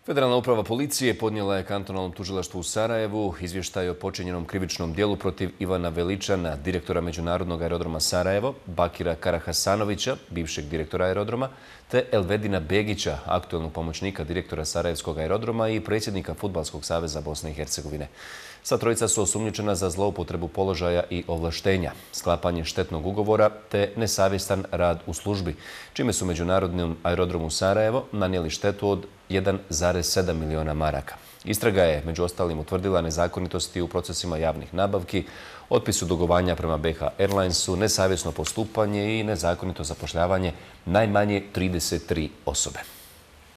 Federalna uprava policije podnijela je kantonalnom tužilaštvu u Sarajevu izvještaj o počinjenom krivičnom dijelu protiv Ivana Veličana, direktora Međunarodnog aerodroma Sarajevo, Bakira Karahasanovića, bivšeg direktora aerodroma, te Elvedina Begića, aktualnog pomoćnika direktora Sarajevskog aerodroma i predsjednika Fudbalskog saveza Bosne i Hercegovine. Sva trojica su osumnjičena za zloupotrebu položaja i ovlaštenja, sklapanje štetnog ugovora te nesavjestan rad u službi, čime su Međunarodnom aerodromu Sarajevo nanijeli štetu od 1,7 miliona maraka. Istraga je, među ostalim, utvrdila nezakonitosti u procesima javnih nabavki, otpisu dugovanja prema BH Airlinesu, nesavjesno postupanje i nezakonito zapošljavanje najmanje 33 osobe.